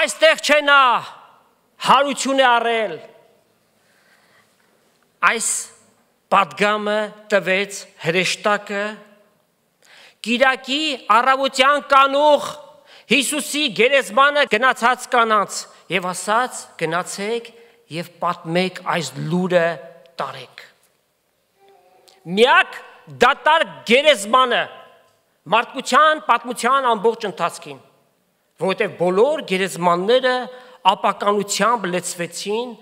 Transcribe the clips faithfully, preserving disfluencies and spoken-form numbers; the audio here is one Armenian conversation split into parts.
այստեղ չէ նա հարություն է առել։ Այս պատգամը տվեց հրեշտակը Կիրակի առավոտյան կանուխ Հիսուսի գերեզմանը գնացած կանանց եւ ասաց գնացեք եւ պատմեք այս լուրը տարեք։ Միակ դատարկ գերեզմանը մարդկության պատմության ամբողջ ընթացքին, որովհետեւ բոլոր գերեզմանները ապականությամբ լեցվեցին,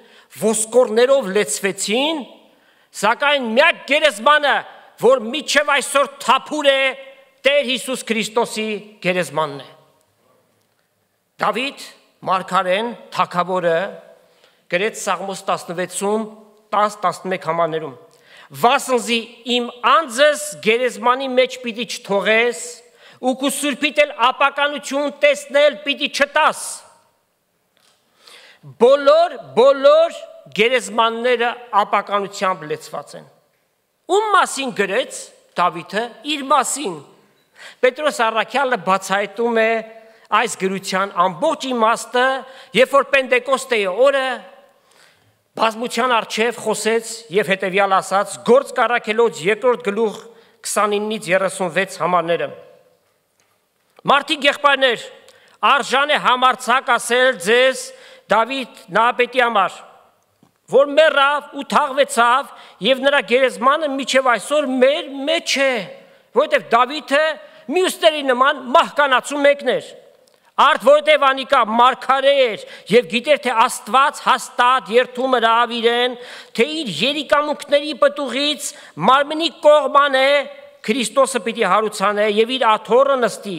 ոսկորներով լեցվեցին, սակայն միակ գերեզմանը, որ միջև այսօր թափուր է, Տեր Հիսուս Քրիստոսի գերեզմանն է։ Դավիթ մարգարեն թագավորը գրեց Սաղմոս տասնվեցում տաս տասնմեկ համարներում Վասնզի իմ անձս գերեզմանի մեջ պիտի չթողես ու քու սուրբիդ էլ ապականություն տեսնել պիտի չտաս։ Բոլոր բոլոր գերեզմանները ապականությամբ լեցված են։ Ում մասին գրեց Դավիթը իր մասին։ Պետրոս առաքյալը բացահայտում է այս գրության ամբողջ իմաստը, երբ որ Պենտեկոստեի օրը բազմության առջև խոսեց եւ հետեւյալ ասաց Գործ Առաքելոց երկրորդ գլուխ քսանինից երեսունվեց համարները։ Մարդիկ եղբայրներ, արժան է համարձակ ասել ձեզ Դավիթ նահապետի համար, որ մեռավ ու թաղվեցավ եւ նրա գերեզմանը միջև այսօր մեր մեջ է, որովհետեւ Դավիթը մյուսների նման մահկանացու մեկն էր։ Արդ որովհետև անիկա մարգարե էր եւ գիտեր թե Աստված հաստատ երթում հրավ իրեն, թե իր երիկամունքների պտուղից մարմնի կողման է Քրիստոսը պիտի հարուցանե եւ իր աթոռը նստի։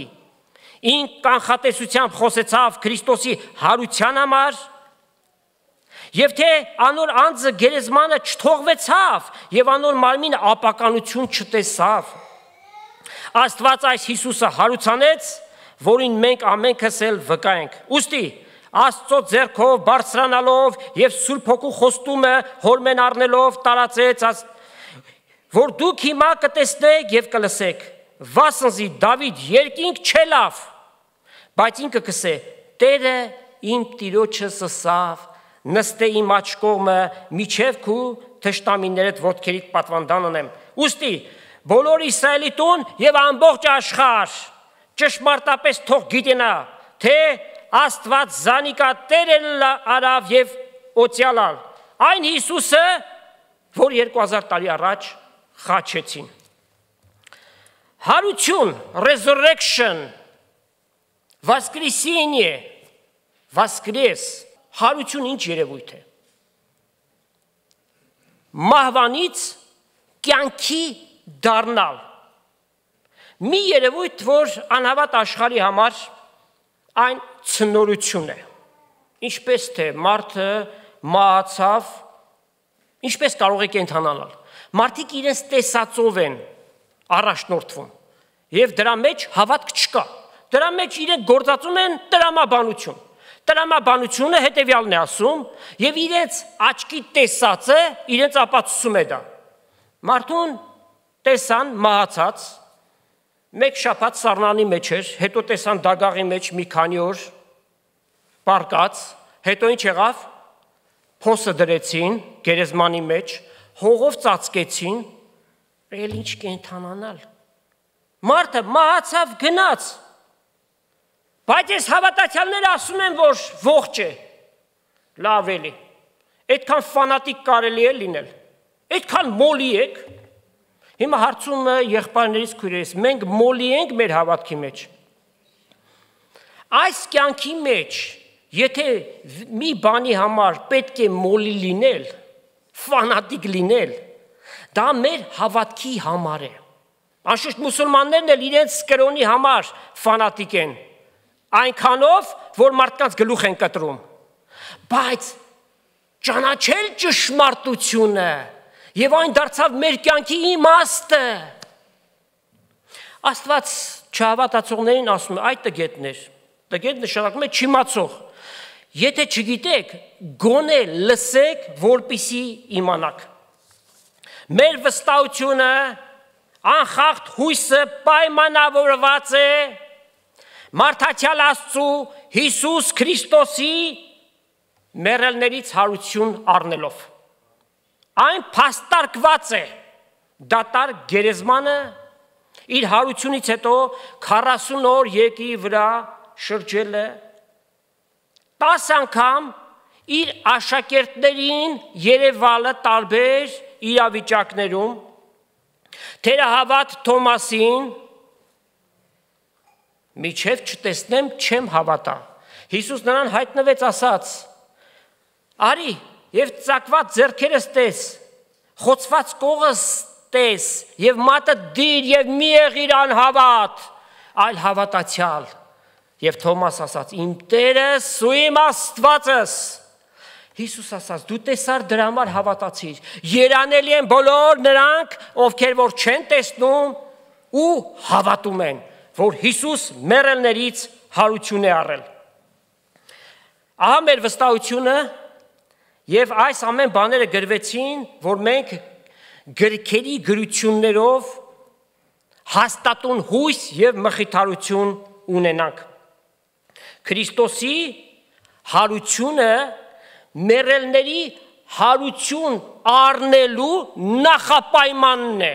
Ին կանխատեսությամբ խոսեցավ Քրիստոսի հարության համար եւ թե անոր անձը գերեզմանը չթողվեցավ եւ անոր մարմինը ապականություն չտեսավ։ Աստված այս Հիսուսը հարուցանեց, որին մենք ամենքս էլ վկայենք։ Ուստի Աստծո ձեռքով բարձրանալով եւ Սուրբ Հոգու խոստումը հորմեն առնելով տարածեց, որ դուք հիմա կտեսնեք եւ կլսեք։ Վասնզի Դավիթ երկինք չելավ, բայց ինքը կսե. Տերը իմ տիրոջս ասավ, նստե իմ աջ կողմը, միջև քու թշնամիներդ ոտքերիդ պատվանդան ունեմ։ Ուստի բոլոր Իսրայելի տուն եւ ամբողջ աշխարհ ճշմարտապես թող գիտենա, թե Աստված զանիկա Տեր էլ արավ եւ օծյալալ։ Այն Հիսուսը, որ երկու հազար տարի առաջ խաչեցին։ Հարություն, resurrection, воскресение, воскрес, հարություն ինչ երևույթ է։ Մահվանից կյանքի դառնալ։ Մի երևույթ, որ անհավատ աշխարհի համար այն ցնորություն է։ Ինչպես թե մարդը մահացավ, ինչպես կարող է կենդանանալ։ Մարդիկ իրենց տեսածով են առաջնորդվում եւ դրա մեջ հավատք չկա։ Դրա մեջ իրենք գործածում են տրամաբանություն։ Տրամաբանությունը հետեւյալն է ասում եւ իրենց աչքի տեսածը իրենց ապացուցում է դա։ Մարդուն տեսան մահացած, մեկ շաբաթ սառնանի մեջ էր, հետո տեսան դագաղի մեջ մի քանի օր պարկած, հետո ինչ եղավ, փոսը դրեցին գերեզմանի մեջ, հողով ծածկեցին, էլ ինչ կենթանանալ։ Մարդը մահացավ գնաց, բայց ես հավատացյալները ասում են, որ ողջ է, լավ էլի, այդքան ֆանատիկ կարելի է լինել, այդքան մոլի եք, հիմա հարցումը եղբայրներից քույրերից, մենք մոլի ենք մեր հավատքի մեջ։ Այս կյանքի մեջ, եթե մի բանի համար պետք է մոլի լինել, ֆանատիկ լինել, դա մեր հավատքի համար է։ Անշուշտ մուսուլմաններն էլ իրենց կրոնի համար ֆանատիկ են, այնքանով, որ մարդկանց գլուխ են կտրում, բայց ճանաչել ճշմարտությունը եւ այն դարձավ մեր կյանքի իմաստը։ Աստված չհավատացողներին ասում է, այդ տգետներ, տգետ նշանակում է չիմացող։ Եթե չգիտեք, գոնե լսեք, որպիսի իմանաք։ Մեր վստահությունը, անխախտ հույսը պայմանավորված է մարդացյալ Աստծու Հիսուս Քրիստոսի մեռելներից հարություն առնելով։ Այն փաստարկված է դատար գերեզմանը իր հարությունից հետո քառասուն օր երկրի վրա շրջել է, տասը անգամ իր աշակերտներին երևալը տարբեր իրավիճակներում, թերահավատ Թոմասին միջև չտեսնեմ չեմ հավատա։ Հիսուս նրան հայտնվեց ասաց. արի եւ ծակված ձեռքերս տես, խոցված կողս տես եւ մատը դիր եւ մի եղիր անհավատ, այլ հավատացյալ։ Եվ Թոմաս ասաց. իմ Տերս ու իմ Աստվածս։ Հիսուս ասաց. դու տեսար դրա համար հավատացիր։ Երանելի են բոլոր նրանք, ովքեր որ չեն տեսնում ու հավատում են, որ Հիսուս մեռելներից հարություն է առել։ Ահա մեր վստահությունը եւ այս ամեն բաները գրվեցին, որ մենք գրքերի գրություններով հաստատուն հույս եւ մխիթարություն ունենանք։ Քրիստոսի հարությունը մեռելների հարություն առնելու նախապայմանն է։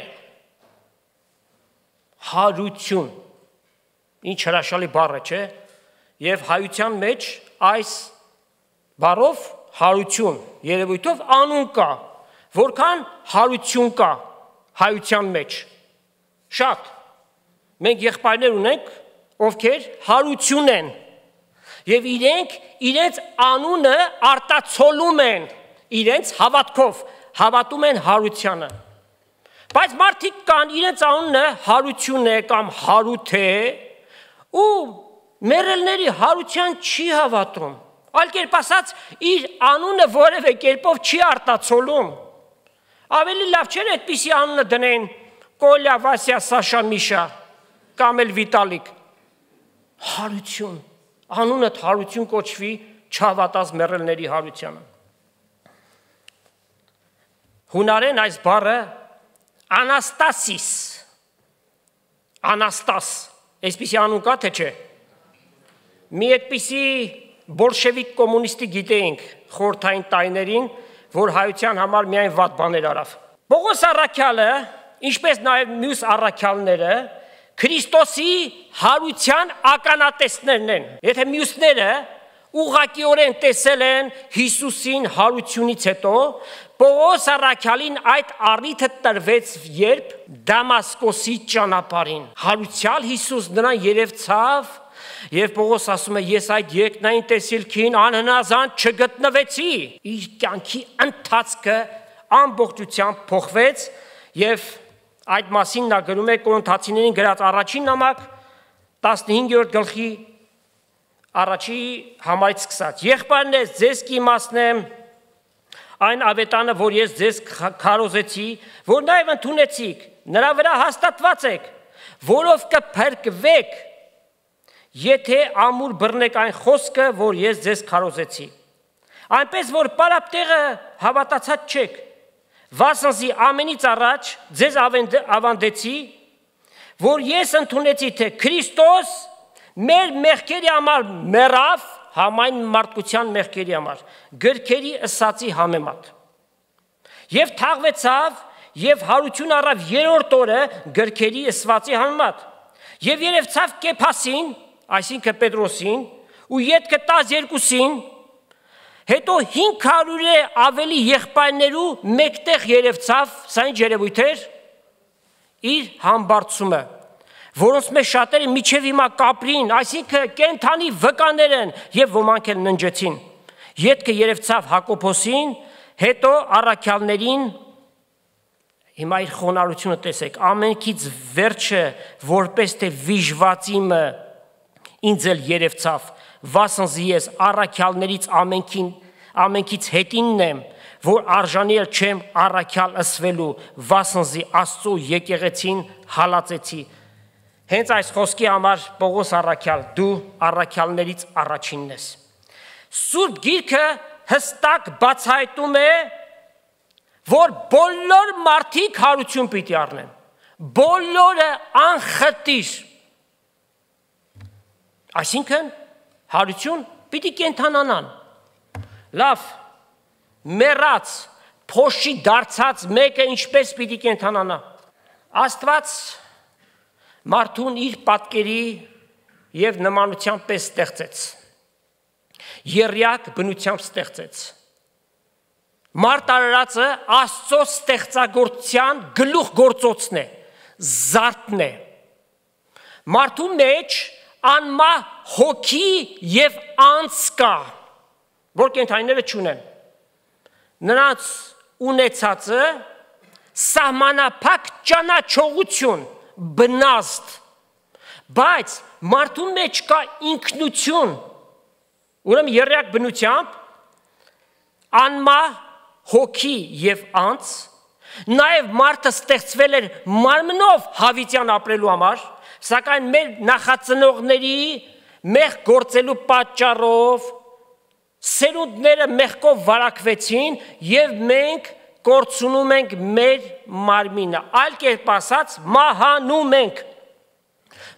Հարություն։ Ինչ հրաշալի բառ է, չէ՞։ Եվ հայության մեջ այս բառով հարություն, երևույթով անուն կա, որքան հարություն կա հայության մեջ։ Շատ։ Մենք եղբայրներ ունենք, ովքեր հարություն են, եւ իրենք իրենց անունը արտացոլում են իրենց հավատքով, հավատում են հարությանը։ Բայց մարդիկ կան, իրենց անունը հարություն է կամ հարութ է, ու մեռելների հարության չի հավատում։ Այլ կերպ ասած, իր անունը որևէ կերպով չի արտացոլում։ Ավելի լավ չէ այդպիսի անունը դնեն Կոլյա, Վասյա, Սաշա, Միշա կամ էլ Վիտալիկ։ Հարություն, անունը հարություն կոչվի չհավատած մեռելների հարությանը։ Հունարեն այս բառը Անաստասիս, Անաստաս, այսպիսի անուն կա թե չէ։ Մի այդպիսի բոլշևիկ կոմունիստի գիտեինք խորհրդային տարիներին, որ հայության համար միայն վատ բաներ արավ։ Պողոս առաքյալը, ինչպես նաև մյուս առաքյալները, Քրիստոսի հարության ականատեսներն են։ Եթե մյուսները ուղղակիորեն տեսել են Հիսուսին հարությունից հետո, Պողոս առաքյալին այդ առիթը տրվեց, երբ Դամասկոսի ճանապարհին հարուցյալ Հիսուս նրան երևցավ, եւ Պողոս ասում է. ես այդ երկնային տեսիլքին անհնազանդ չգտնվեցի։ Իր կյանքի ընթացքը ամբողջությամբ փոխվեց եւ այդ մասին նա գրում է Կորինթացիներին գրած առաջին նամակ տասնհինգերորդ գլխի առաջի համարից սկսած։ Եղբայրներ, ձեզ կիմացնեմ այն ավետանը, որ ես ձեզ քարոզեցի, որ նաև ընդունեցիք, նրա վրա հաստատված եք, որով կփրկվեք, եթե ամուր բռնեք այն խոսքը, որ ես ձեզ քարոզեցի։ Այնպես որ պարապտեղը հավատացած չեք, վասնզի ամենից առաջ ձեզ ավանդեցի, որ ես ընդունեցի, թե Քրիստոս մեր մեղքերի համար մեռավ, համայն մարդկության մեղքերի համար, գրքերի ըսածի համեմատ։ Եվ թաղվեցավ եւ հարություն առավ երրորդ օրը գրքերի ըսվածի համեմատ։ Եվ երևցավ Կեփասին, այսինքն Պետրոսին, ու ետքը տասներկուսին, հետո հինգ հարյուրը ավելի եղբայրներու մեկտեղ երևցավ, սա ինչ երևույթ էր, իր համբարձումը, որոնց մեջ շատերը միջև հիմա կապրին, այսինքն կենթանի վկաներ են եւ ոմանք էլ ննջեցին։ Ետքը երևցավ Հակոբոսին, հետո առաքյալներին, հիմա իր խոնարհությունը տեսեք, ամենքից վերջը որպես թե վիժվածիմը ինձ էլ երևցավ, վասնզի ես առաքյալներից ամենքին ամենքից հետինն եմ, որ արժանի էլ չեմ առաքյալ ըսվելու, վասնզի Աստծո եկեղեցին հալածեցի։ Հենց այս խոսքի համար Պողոս առաքյալ, դու առաքյալներից առաջինն ես։ Սուրբ Գիրքը հստակ բացահայտում է, որ բոլոր մարդիկ հարություն պիտի առնեն, բոլորը անխտիր, այսինքն հարություն, պիտի կենթանանան։ Լավ, մեռած, փոշի դարձած մեկը ինչպես պիտի կենթանանա։ Աստված մարդուն իր պատկերի եւ նմանությամբ պես ստեղծեց։ Եռյակ բնությամբ ստեղծեց։ Մարդ արարածը Աստծո ստեղծագործության գլուխ գործոցն է, զարդն է։ Մարդու մեջ անմա հոգի եւ անձ կա, որ կենդանիները չունեն։ Նրանց ունեցածը սահմանափակ ճանաչողություն, բնազդ, բայց մարդու մեջ կա ինքնություն, ուրեմն եռյակ բնությամբ անմա հոգի եւ անձ, նաեւ մարդը ստեղծվել էր մարմնով հավիտյան ապրելու համար, սակայն մեր նախածնողների մեղ գործելու պատճառով սերունդները մեղքով վարակվեցին եւ մենք կորցնում ենք մեր մարմինը, այլ կերպ ասած մահանում ենք։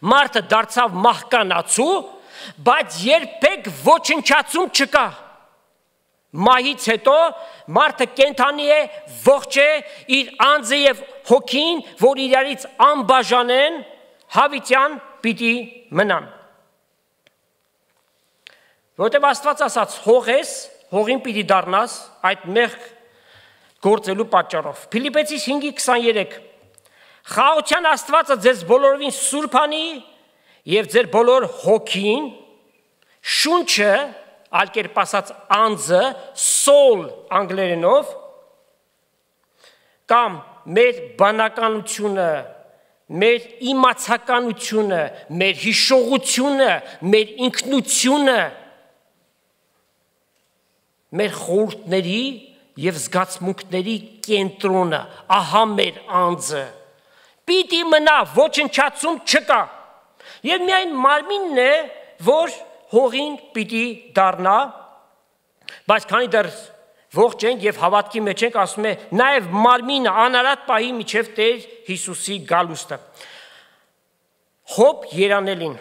Մարդը դարձավ մահկանացու, բայց երբեք ոչնչացում չկա։ Մահից հետո մարդը կենդանի է, ողջ է, իր անձը եւ հոգին, որ իրարից անբաժան են, հավիտյան պիտի մնան։ Որտեւ Աստված ասաց հող ես, հողին պիտի դառնաս այդ մեղք գործելու պատճառով։ Փիլիպպեցիս հինգ քսաներեք Խաղաղության Աստվածը ձեզ բոլորովին սուրբ անի եւ ձեր բոլոր հոգին, շունչը, այլ կերպ ասած անձը, soul անգլերենով, կամ մեր բանականությունը, մեր իմացականությունը, մեր հիշողությունը, մեր ինքնությունը, մեր խորհուրդների եւ զգացմունքների կենտրոնը, ահա մեր անձը, պիտի մնա, ոչնչացում չկա, եւ միայն մարմինն է, որ հողին պիտի դառնա, բայց քանի դեռ ողջ ենք եւ հավատքի մեջ ենք, ասում է նաեւ մարմինը անարատ պահի միջև Տեր Հիսուսի գալուստը։ Հոբ երանելին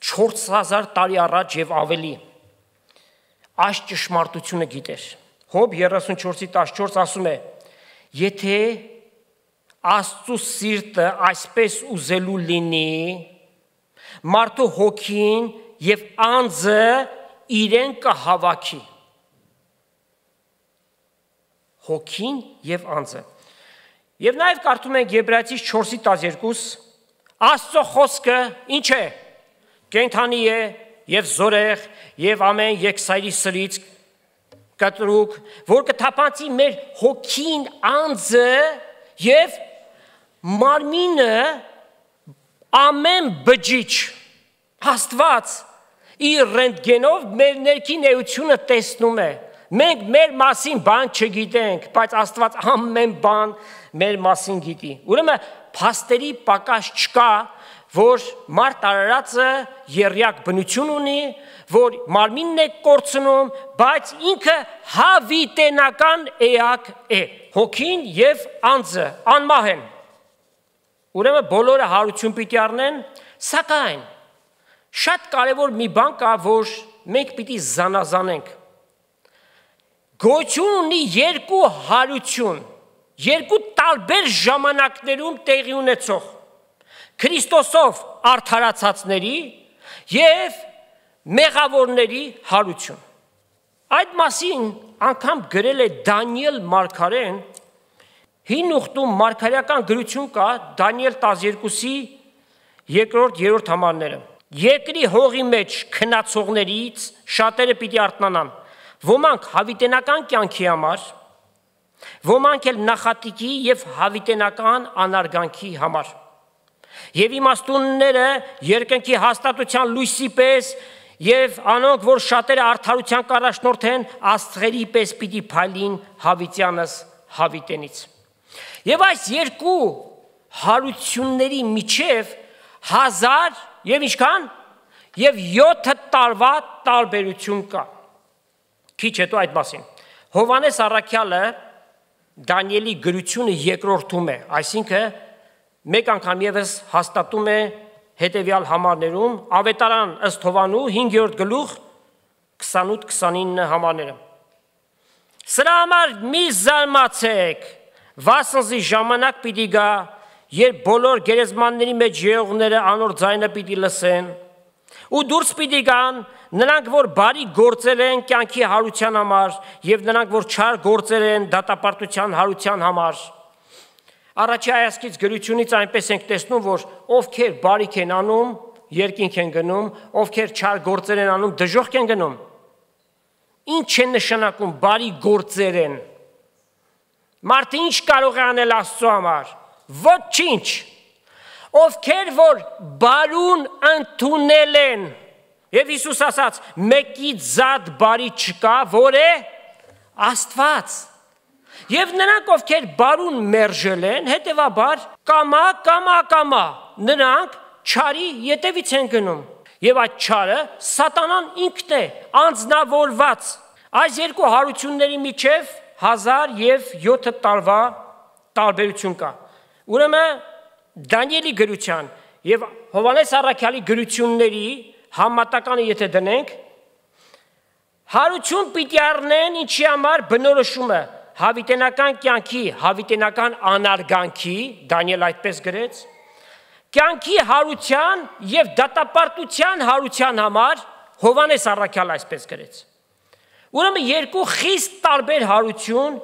չորս հազար տարի առաջ եւ ավելի այս ճշմարտությունը գիտեր։ Հոբ երեսունչորսի տասնչորս ասում է. եթե Աստծո սիրտը այսպես ուզելու լինի, մարդու հոգին եւ անձը իրեն կհավաքի։ Հոգին եւ անձը։ Եվ նաեւ կարդում ենք Եբրայեցիս չորսի տասներկուս, Աստծո խոսքը ինչ է։ Կենդանի է եւ զորեղ եւ ամեն երկսայրի սրից կտրուկ, որ կթափանցի մեր հոգին, անձը եւ մարմինը ամեն բջիջ, Աստված իր ռենտգենով մեր ներքին էությունը տեսնում է։ Մենք մեր մասին բան չգիտենք, բայց Աստված ամեն բան մեր մասին գիտի։ Ուրեմն փաստերի պակաս չկա, որ մարդ արարածը եռյակ բնություն ունի, որ մարմինն է կորցնում, բայց ինքը հավիտենական էակ է։ Հոգին եւ անձը անմահ են։ Ուրեմն բոլորը հարություն պիտի առնեն, սակայն շատ կարևոր մի բան կա, որ մենք պիտի զանազանենք։ Գոյություն ունի երկու հարություն, երկու տարբեր ժամանակներում տեղի ունեցող Քրիստոսով արդարացածների եւ մեղավորների հարություն։ Այդ մասին անգամ գրել է Դանիել մարգարեն, հին ուխտում մարգարեական գրություն կա Դանիել տասներկուսի երկրորդ երրորդ համարները։ Երկրի հողի մեջ քնացողներից շատերը պիտի արթնանան, ոմանք հավիտենական կյանքի համար, ոմանք էլ նախատիկի եւ հավիտենական անարգանքի համար։ Եվ իմաստունները երկնքի հաստատության լույսի պես եւ անոնք, որ շատերը արդարության կառաջնորդ են, աստղերի պես պիտի փայլին հավիտյանս հավիտենից։ Եվ այս երկու հարությունների միջև հազար եւ ինչքան եւ յոթ տարվա տարբերություն կա։ Քիչ հետո այդ մասին Հովանես առաքյալը Դանիելի գրությունը երկրորդում է, այսինքն մեկ անգամ եւս հաստատում է հետևյալ համարներում, Ավետարան ըստ Հովանու հինգերորդ գլուխ քսանութ քսանինը համարները։ Սրա համար մի զարմացեք, վասնզի ժամանակ պիտի գա, երբ բոլոր գերեզմանների մեջ եղողները անոր ձայնը պիտի լսեն, ու դուրս պիտի գան նրանք, որ բարի գործել են կյանքի հարության համար, եւ նրանք, որ չար գործել են դատապարտության հարության համար։ Առաջի հայացքից գրությունից այնպես ենք տեսնում, որ ովքեր բարիք են անում, երկինք են գնում, ովքեր չար գործեր են անում, դժոխք են գնում։ Ինչ է նշանակում բարի գործեր են։ Մարդը ինչ կարող է անել Աստծո համար։ Ոչինչ։ Ովքեր որ բարուն ընդունել են, եւ Հիսուս ասաց, մեկից զատ բարի չկա, որ է Աստված։ Եվ նրանք, ովքեր բարուն մերժել են, հետևաբար կամա, կամա, կամա, նրանք չարի ետևից են գնում։ Եվ այդ չարը սատանան ինքն է, անձնավորված։ Այս երկու հարությունների միջև հազար և յոթ տարվա տարբերություն կա։ Ուրեմն Դանիելի գրության եւ Հովհաննես առաքյալի գրությունների համատականը եթե դնենք, հարություն պիտի առնեն ինչի համար բնորոշումը հավիտենական կյանքի, հավիտենական անարգանքի, Դանիել այդպես գրեց, կյանքի հարության եւ դատապարտության հարության համար Հովհաննես առաքյալ այսպես գրեց։ Ուրեմն երկու խիստ տարբեր հարություն,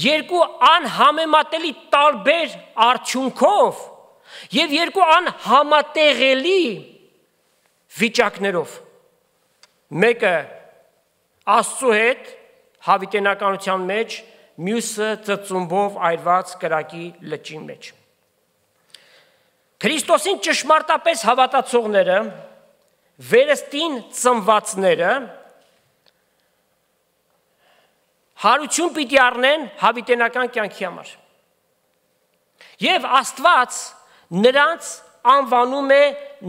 երկու անհամեմատելի տարբեր արդյունքով եւ երկու անհամատեղելի վիճակներով։ Մեկը Աստծո հետ հավիտենականության մեջ, մյուսը ծծումբով այրված կրակի լճի մեջ։ Քրիստոսին ճշմարտապես հավատացողները, վերստին ծնվածները հարություն պիտի առնեն հավիտենական կյանքի համար։ Եվ Աստված նրանց անվանում է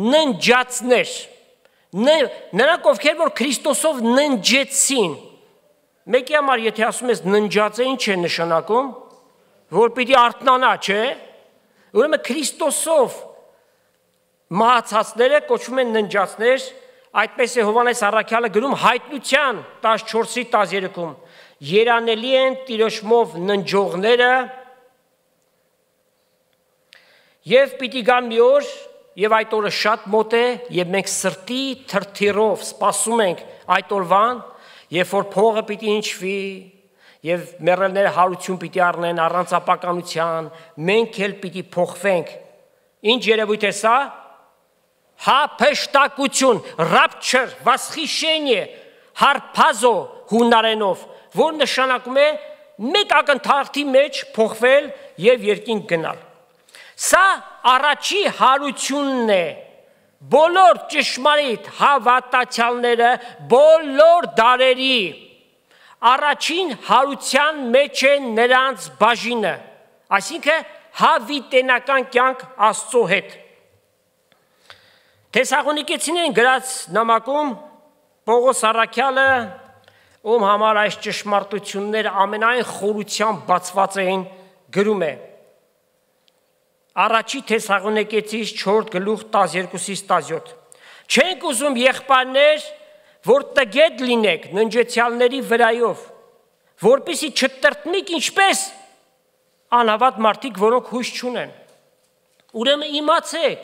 ննջածներ, նրանք ովքեր որ Քրիստոսով ննջեցին։ Մեկի համար եթե ասում ես ննջած է, ինչ է նշանակում, որ պիտի արթնանա, չէ։ Ուրեմն Քրիստոսով մահացածները կոչվում են ննջածներ, այդպես է Հովհաննես առաքյալը գրում հայտնության տասնչորսի տասներեքում, երանելի են Տիրոջմով ննջողները եւ պիտի գա մի օր եւ այդ օրը շատ մոտ է եւ մենք սրտի թրթիրով սպասում ենք այդ օրվան, երբ որ փողը պիտի հնչվի եւ մեռելները հարություն պիտի առնեն առանց ապականության, մենք էլ պիտի փոխվենք։ Ինչ երևույթ է սա։ Հափշտակություն, rapture, восхищение, հարփազո հունարենով, որ նշանակում է մեկ ակնթարթի մեջ փոխվել եւ երկինք գնալ։ Սա առաջի հարությունն է, բոլոր ճշմարիտ հավատացյալները, բոլոր դարերի առաջին հարության մեջ է նրանց բաժինը, այսինքն հավիտենական կյանք Աստծո հետ։ Թեսաղոնիկեցիներին գրած նամակում Պողոս առաքյալը, ում համար այս ճշմարտությունները ամենայն խորությամբ բացված էին, գրում է. Առաջի Թեսաղոնիկեցիս չորրորդ գլուխ տասներկուսից տասնյոթ։ Չենք ուզում եղբայրներ, որ տգետ լինեք ննջեցյալների վրայով, որպեսզի չտրտնիք ինչպես անհավատ մարդիկ, որոնք հույս չունեն։ Ուրեմն իմացեք,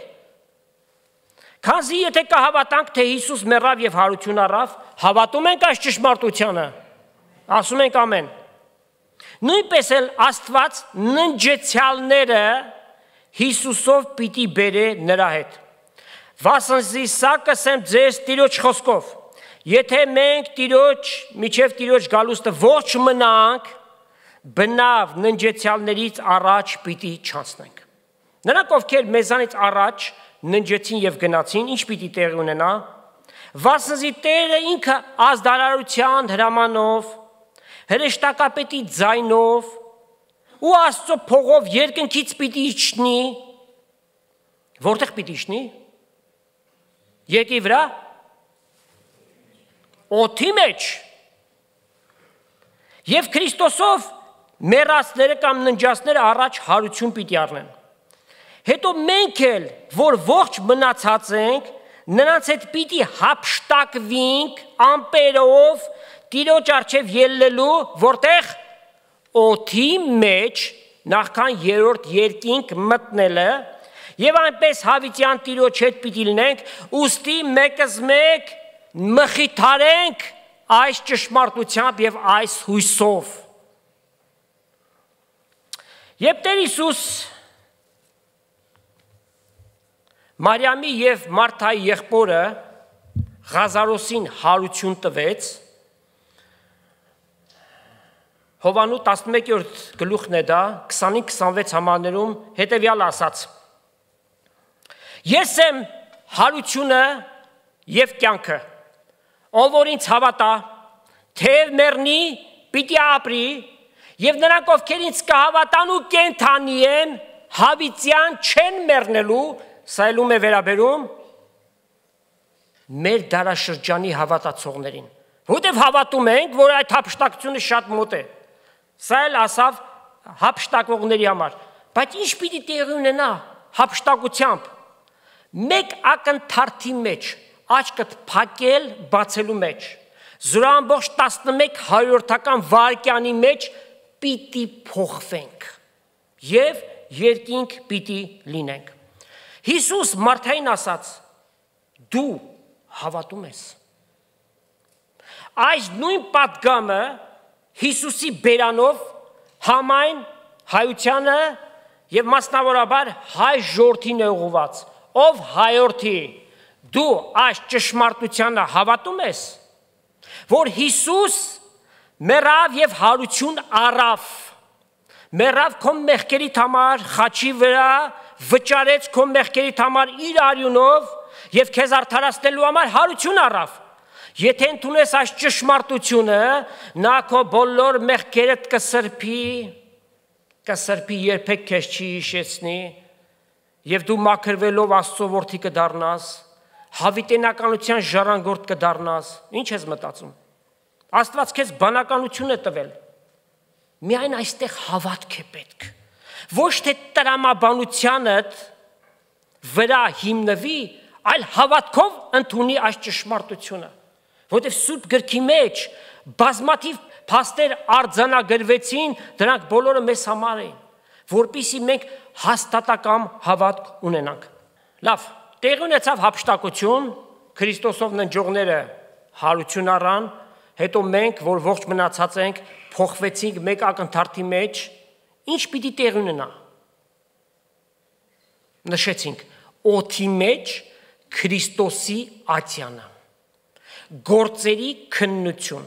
քանզի եթե կհավատանք, թե Հիսուս մեռավ եւ հարություն առավ, հավատում ենք այս ճշմարտությանը։ Ասում ենք ամեն։ Նույնպես էլ Աստված ննջեցյալները Հիսուսով պիտի բերե նրա հետ։ Վասնզի սա կսեմ ձեզ Տիրոջ խոսքով, եթե մենք Տիրոջ, միջև Տիրոջ գալուստը ողջ մնանք, բնավ ննջեցյալներից առաջ պիտի չանցնենք։ Նրանք ովքեր մեզանից առաջ ննջեցին եւ գնացին, ինչ պիտի տեղի ունենա։ Վասնզի Տերը ինքը ազդարարության հրամանով, հրեշտակապետի ձայնով ու Աստծո փողով երկնքից պիտի իջնի, որտեղ պիտի իջնի։ Երկի վրա, օդի մեջ։ Եվ Քրիստոսով մեռածները կամ ննջածները առաջ հարություն պիտի առնեն։ Հետո մենք էլ, որ ողջ մնացած ենք, նրանց հետ պիտի հափշտակվինք ամպերով Տիրոջ առջև ելնելու, որտեղ օդի մեջ նախքան երրորդ երկինք մտնելը, եւ այնպես հավիտյան Տիրոջ հետ պիտի լինենք, ուստի մեկս մեկ մխիթարենք այս ճշմարտությամբ եւ այս հույսով։ Երբ Տեր Հիսուս Մարիամի եւ Մարթայի եղբորը Ղազարոսին հարություն տվեց, Հովանու տասնմեկերորդ գլուխն է դա, քսանինք քսանվեց համարներում հետևյալ ասաց. Ես եմ հարությունը եւ կյանքը, ով որ ինձ հավատա, թեև մեռնի, պիտի ապրի, եւ նրանք ովքեր ինձ կհավատան ու կենդանի են, հավիտյան չեն մեռնելու, սա ելում է վերաբերում մեր դարաշրջանի հավատացողներին, որտեղ հավատում ենք, որ այդ հափշտակությունը շատ մոտ է։ Սա էլ ասավ հափշտակողների համար, բայց ինչ պիտի տեղի ունենա հափշտակությամբ։ Մեկ ակնթարթի մեջ, աչքդ փակել բացելու մեջ, զորամբողջ տասնմեկ հարյուրորդական վայրկյանի մեջ պիտի փոխվենք եւ երկինք պիտի լինենք։ Հիսուս Մարթային ասաց. դու հավատում ես։ Այս նույն պատգամը Հիսուսի բերանով համայն հայությանը եւ մասնավորաբար հայ ժողովրդին է ուղղված, ով հայորդի, դու այս ճշմարտությանը հավատում ես, որ Հիսուս մեռավ եւ հարություն առավ, մեռավ քո մեղքերիդ համար խաչի վրա, վճարեց քո մեղքերիդ համար իր արյունով եւ քեզ արդարացնելու համար հարություն առավ։ Եթե ընդունես այս ճշմարտությունը, նա քո բոլոր մեղքերդ կսրբի, կսրբի երբեք քեզ չի հիշեցնի, եւ դու մաքրվելով Աստծո որդի կդառնաս, հավիտենականության ժառանգորդ կդառնաս։ Ինչ ես մտածում։ Աստված քեզ բանականություն է տվել։ Միայն այստեղ հավատք է պետք։ Ոչ թե տրամաբանությանդ վրա հիմնվի, այլ հավատքով ընդունի այս ճշմարտությունը։ Որտեւ Սուրբ գրքի մեջ բազմաթիվ փաստեր արձանագրվեցին, դրանք բոլորը մեզ համար էին, որպեսզի մենք հաստատակամ հավատք ունենանք։ Լավ, տեղի ունեցավ հափշտակություն, Քրիստոսով ննջողները հարություն առան, հետո մենք, որ ողջ մնացած ենք, փոխվեցինք մեկ ակնթարթի մեջ, ինչ պիտի տեղի ունենա։ Նշեցինք, օդի մեջ Քրիստոսի ատյանը, գործերի քննություն,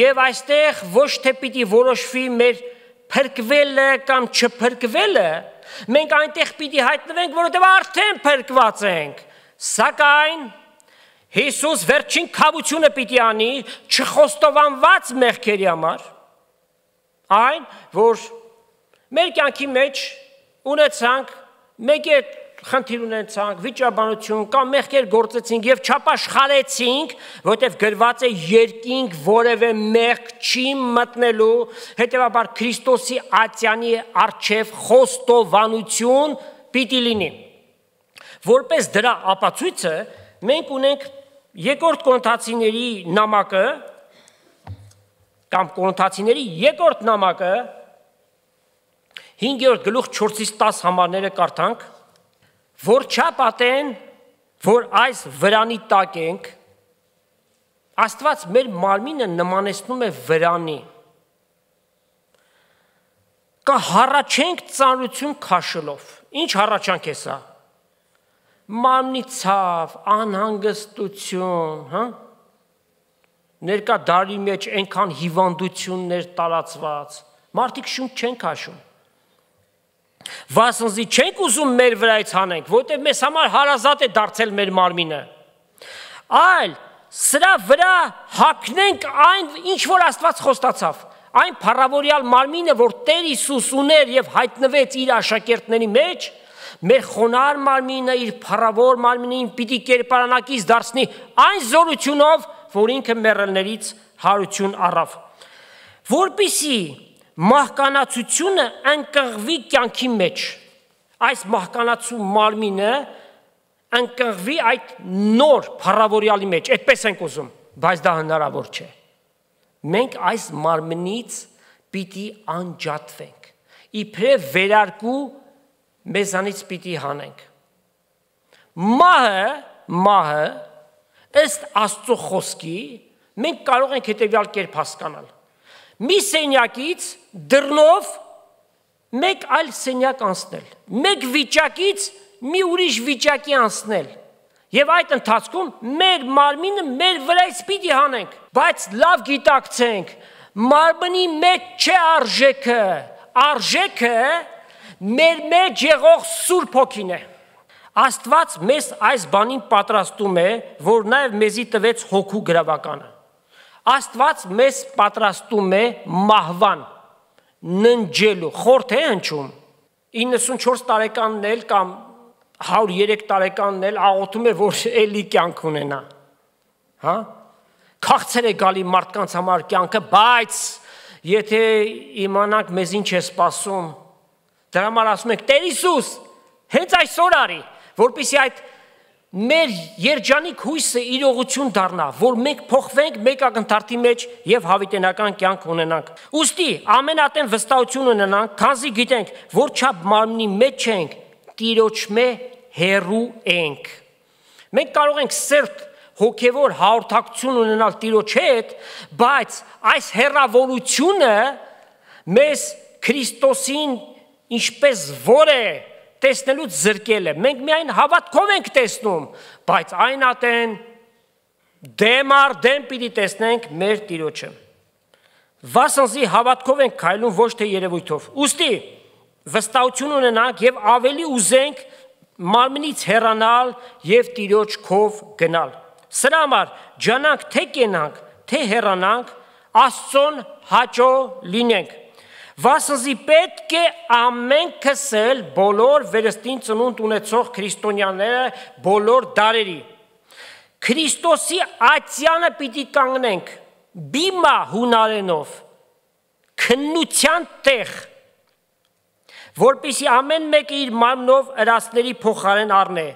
եւ այստեղ ոչ թե պիտի որոշվի մեր փրկվելը կամ չփրկվելը, մենք այնտեղ պիտի հայտնվենք, որովհետեւ արդեն փրկված ենք, սակայն Հիսուս վերջին քավությունը պիտի անի չխոստովանված մեղքերի համար, այն, որ մեր կյանքի մեջ ունեցանք, մեկ է խնդիր ունեցանք, վիճաբանություն կամ մեղքեր գործեցինք եւ չապաշխարեցինք, որտեղ գրված է երկինք որևէ մեղք չի մտնելու, հետեւաբար Քրիստոսի ատյանի առջև խոստովանություն պիտի լինի։ Որպես դրա ապացույցը մենք ունենք երկրորդ Կորինթացիների նամակը կամ Կորինթացիների երկրորդ նամակը հինգերորդ գլուխ չորսից տաս համարները կարդանք, որ չապատեն, որ այս վրանի տակ ենք, Աստված մեր մարմինը նմանեցնում է վրանի, կհառաչենք ծանրություն քաշելով, ինչ հառաչանք է սա, մարմնի ցավ, անհանգստություն, հա? Ներկա դարի մեջ այնքան հիվանդություններ տարածված, մարդիկ շունչ չեն քաշում, վասնզի չենք ուզում մեր վրայից հանենք, որտեղ մեզ համար հարազատ է դարձել մեր մարմինը, այլ սրա վրա հագնենք այն, ինչ որ Աստված խոստացավ, այն փառավորյալ մարմինը, որ Տեր Հիսուս ուներ եւ հայտնվեց իր աշակերտների մեջ, մեր խոնար մարմինը իր փառավոր մարմինին պիտի կերպարանակից դարձնի այն զորությունով, որ ինքը մեռելներից հարություն առավ, որպեսզի մահկանացությունը ընկղվի կյանքի մեջ, այս մահկանացու մարմինը ընկղվի այդ նոր փառավորյալի մեջ, այդպես ենք ուզում, բայց դա հնարավոր չէ։ Մենք այս մարմնից պիտի անջատվենք, իբրև վերարկու մեզանից պիտի հանենք։ Մահը, մահը, ըստ Աստծո խոսքի, մենք կարող ենք հետևյալ կերպ հասկանալ։ Մի սենյակից դռնով մեկ այլ սենյակ անցնել, մեկ վիճակից մի ուրիշ վիճակի անցնել, եւ այդ ընթացքում մեր մարմինը մեր վրայից պիտի հանենք, բայց լավ գիտակցենք, մարմնի մեջ չէ արժեքը, արժեքը մեր մեջ եղող Սուրբ Հոգին է։ Աստված մեզ այս բանին պատրաստում է, որ նաև մեզի տվեց հոգու գրավականը։ Աստված մեզ պատրաստում է մահվան, ննջելու, խորթ է հնչում։ իննսունչորս տարեկանն էլ կամ հարյուր երեք տարեկանն էլ աղոթում է, որ էլի կյանք ունենա։ Հա? Քաղցր է գալի մարդկանց համար կյանքը, բայց եթե իմանանք մեզ ինչ է սպասում, դրա համար ասում ենք Տեր Հիսուս, հենց այսօր արի, որպեսզի այդ մեր երջանիկ հույսը իրողություն դառնա, որ մենք փոխվենք մեկ ակնթարթի մեջ եւ հավիտենական կյանք ունենանք։ Ուստի ամենատեն վստահություն ունենանք, քանզի գիտենք, որ չափ մարմնի մեջ ենք, Տիրոջմե հեռու ենք։ Մենք կարող ենք սերտ հոգևոր հաղորդակցություն ունենալ Տիրոջ հետ, բայց այս հեռավորությունը մեզ Քրիստոսին ինչպես որ է տեսնելուց զրկել է։ Մենք միայն հավատքով ենք տեսնում, բայց այն ատեն դեմ առ դեմ պիտի տեսնենք մեր Տիրոջը։ Վասնզի հավատքով ենք քայլում, ոչ թե երևույթով։ Ուստի վստահություն ունենանք եւ ավելի ուզենք մարմնից հեռանալ եւ Տիրոջ քով գնալ։ Սրա համար ջանանք թե կենանք, թե հեռանանք, Աստծուն հաճո լինենք։ Վասնզի պետք է ամենքս էլ բոլոր վերստին ծնունդ ունեցող քրիստոնյաները բոլոր դարերի Քրիստոսի ատյանը պիտի կանգնենք, բիմա հունարենով, քննության տեղ, որպեսզի ամեն մեկը իր մարմնով ըրացների փոխարեն առնե,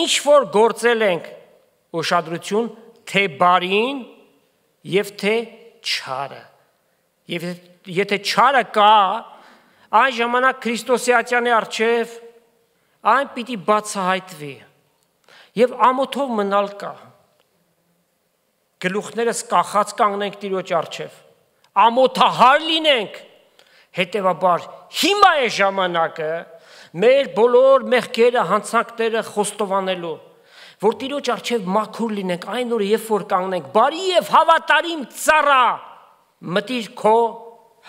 ինչ որ գործել ենք, ուշադրություն, թե բարին եւ թե չարը։ Եվ եթե չարը կա, այն ժամանակ Քրիստոսի ատյանի առջև այն պիտի բացահայտվի եւ ամոթով մնալ կա։ Գլուխներս կախած կանգնենք Տիրոջ առջև, ամոթահար լինենք, հետեւաբար հիմա է ժամանակը մեր բոլոր մեղքերը, հանցանքները խոստովանելու, որ Տիրոջ առջև մաքուր լինենք, այն օրը երբ որ կանգնենք, բարի եւ հավատարիմ ծառա, մտիր քո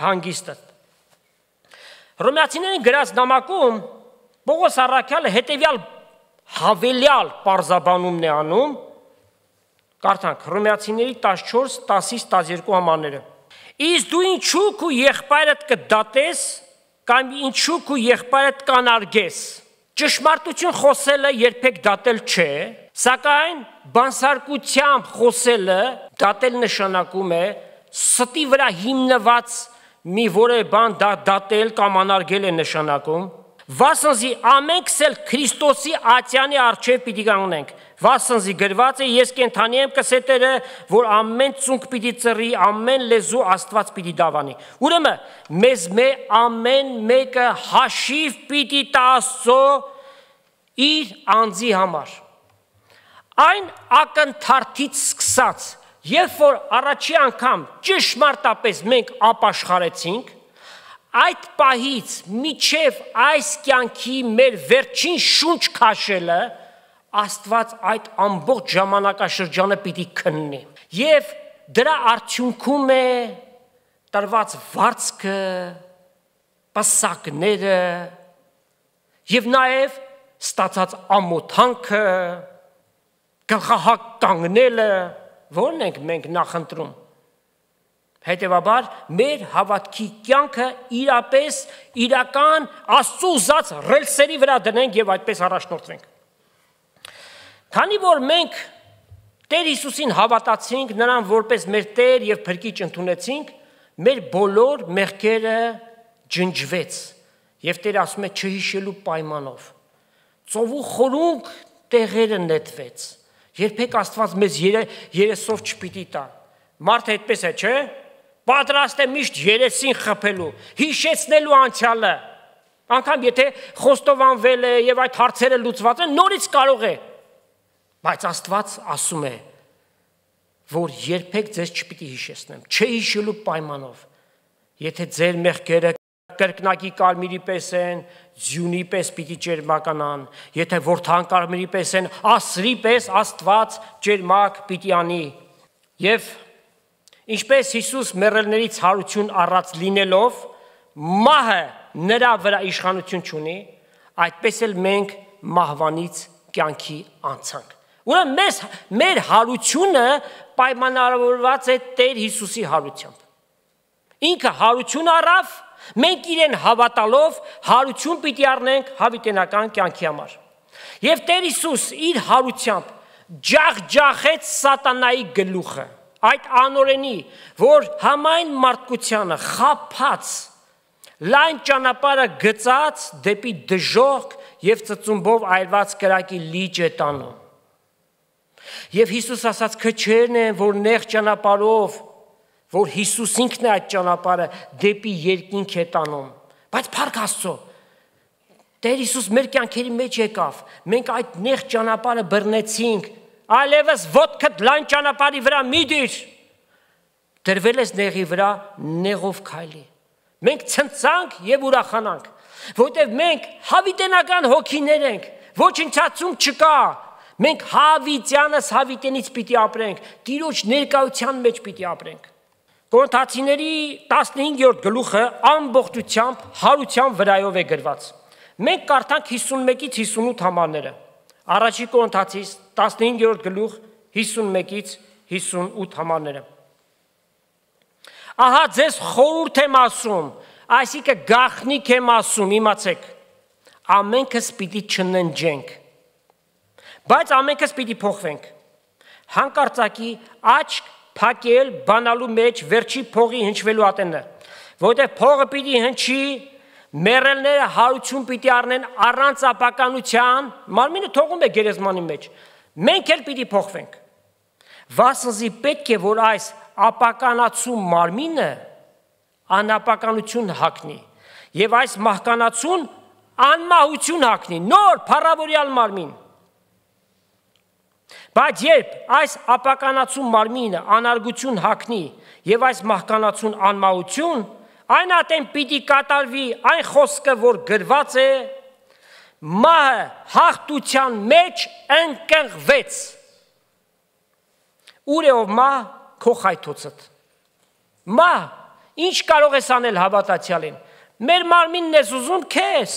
հանգիստը։ Հռոմեացիներին գրած նամակում Պողոս առաքյալը հետևյալ հավելյալ պարզաբանումն է անում, կարդանք Հռոմեացիների տասնչորս տասից տասներկու համարները։ Իսկ դու ինչու քո եղբայրդ կդատես կամ ինչու քո եղբայրդ կանարգես։ Ճշմարտություն խոսելը երբեք դատել չէ, սակայն բանսարկությամբ խոսելը դատել նշանակում է ստի վրա հիմնված մի որևէ բան դա դատել կամ անարգել է նշանակում, վասնզի ամենքս էլ Քրիստոսի ատյանի առջև պիտի կանգնենք, վասնզի գրված է ես կենդանի եմ կսետերը, որ ամեն ծունկ պիտի ծռի, ամեն լեզու Աստված պիտի դավանի։ Ուրեմն մեզ մե ամեն մեկը հաշիվ պիտի տա Աստծո իր անձի համար։ Այն ակնթարթից սկսած, երբ որ առաջի անգամ ճշմարտապես մենք ապաշխարեցինք, այդ պահից միջև այս կյանքի մեր վերջին շունչ քաշելը, Աստված այդ ամբողջ ժամանակաշրջանը պիտի քննի։ Եվ դրա արդյունքում է տրված վարձքը, պսակները եւ նաեւ ստացած ամոթանքը, գլխահակ կանգնելը, որն ենք մենք նախընտրում։ Հետևաբար մեր հավատքի կյանքը իրապես իրական Աստծո ուզած ռելսերի վրա դնենք եւ այդպես առաջնորդվենք։ Քանի որ մենք Տեր Հիսուսին հավատացինք, նրան որպես մեր Տեր եւ Փրկիչ ընդունեցինք, մեր բոլոր մեղքերը ջնջվեց Եվ Տերը ասում է չհիշելու պայմանով։ Ծովու խորունկ տեղերը նետվեց։ Երբեք Աստված մեզ երեսով չպիտի տա։ Մարդը այդպես է, չէ՞։ Պատրաստ է միշտ երեսին խփելու, հիշեցնելու անցյալը։ Անկամ եթե խոստովանվել է եւ այդ հարցերը լուծված են, նորից կարող է։ Բայց Աստված ասում է, որ երբեք ձեզ չպիտի հիշեցնեմ, չհիշելու պայմանով։ Եթե ձեր մեղքերը կրկնակի կարմիրի պես են, ձյունի պես պիտի ջերմականան, եթե որդան կարմիրի պես են, ասրի պես Աստված ջերմակ պիտի անի։ Եվ ինչպես Հիսուս մեռելներից հարություն առած լինելով, մահը նրա վրա իշխանություն չունի, այդպես էլ մենք մահվանից կյանքի անցանք։ Ուրեմն մեզ մեր հարությունը պայմանավորված է Տեր Հիսուսի հարությամբ։ Ինքը հարություն առավ, մենք իրեն հավատալով հարություն պիտի առնենք հավիտենական կյանքի համար։ Եվ Տեր Հիսուս իր հարությամբ ջախջախեց սատանայի գլուխը, այդ անօրենի, որ համայն մարդկությանը խաբած, լայն ճանապարհը գծած դեպի դժոխք եւ ծծումբով այրված կրակի լիճ է տանում։ Եվ Հիսուս ասաց քչերն են, որ նեղ ճանապարհով, որ Հիսուս ինքն է այդ ճանապարհը դեպի երկինք է տանում։ Բայց փառք Աստծո, Տեր Հիսուս մեր կյանքերի մեջ եկավ, մենք այդ նեղ ճանապարհը բռնեցինք, այլևս ոտքդ լայն ճանապարհի վրա մի դիր, դրվել ես նեղի վրա, նեղով քայլի։ Մենք ցնցանք եւ ուրախանանք, որտեղ մենք հավիտենական հոգիներ ենք, ոչնչացում չկա։ Մենք հավիտյանս հավիտենից պիտի ապրենք, Տիրոջ ներկայության մեջ պիտի ապրենք։ Կորինթացիների տասնհինգերորդ գլուխը ամբողջությամբ հարության վրայով է գրված։ Մենք կարդանք հիսունմեկից հիսունութ համարները։ Առաջի Կորինթացիս տասնհինգերորդ գլուխ հիսունմեկից հիսունութ համարները։ Ահա ձեզ խորհուրդ եմ ասում, այսինքն գաղտնիք եմ ասում, իմացեք, ամենքս պիտի չննջենք, բայց ամենքս պիտի փոխվենք։ Հանկարծակի աչք փակել բանալու մեջ վերջի փողի հնչվելու ատենը, որտեղ փողը պիտի հնչի, մեռելները հարություն պիտի առնեն առանց ապականության, մարմինը թողում է գերեզմանի մեջ, մենք էլ պիտի փոխվենք։ Վասնզի պետք է, որ այս ապականացու մարմինը անապականություն հագնի, եւ այս մահկանացուն անմահություն հագնի, նոր փառավորյալ մարմին։ Բայց երբ այս ապականացու մարմինը անարգություն հագնի եւ այս մահկանացուն անմահություն, այն ատեն պիտի կատարվի այն խոսքը, որ գրված է, մահը հաղթության մեջ ընկղվեց։ Ուր է ով մահ, քո խայթոցդ։ Մահ, ինչ կարող ես անել հավատացյալին։ Մեր մարմինն ես ուզում քեզ։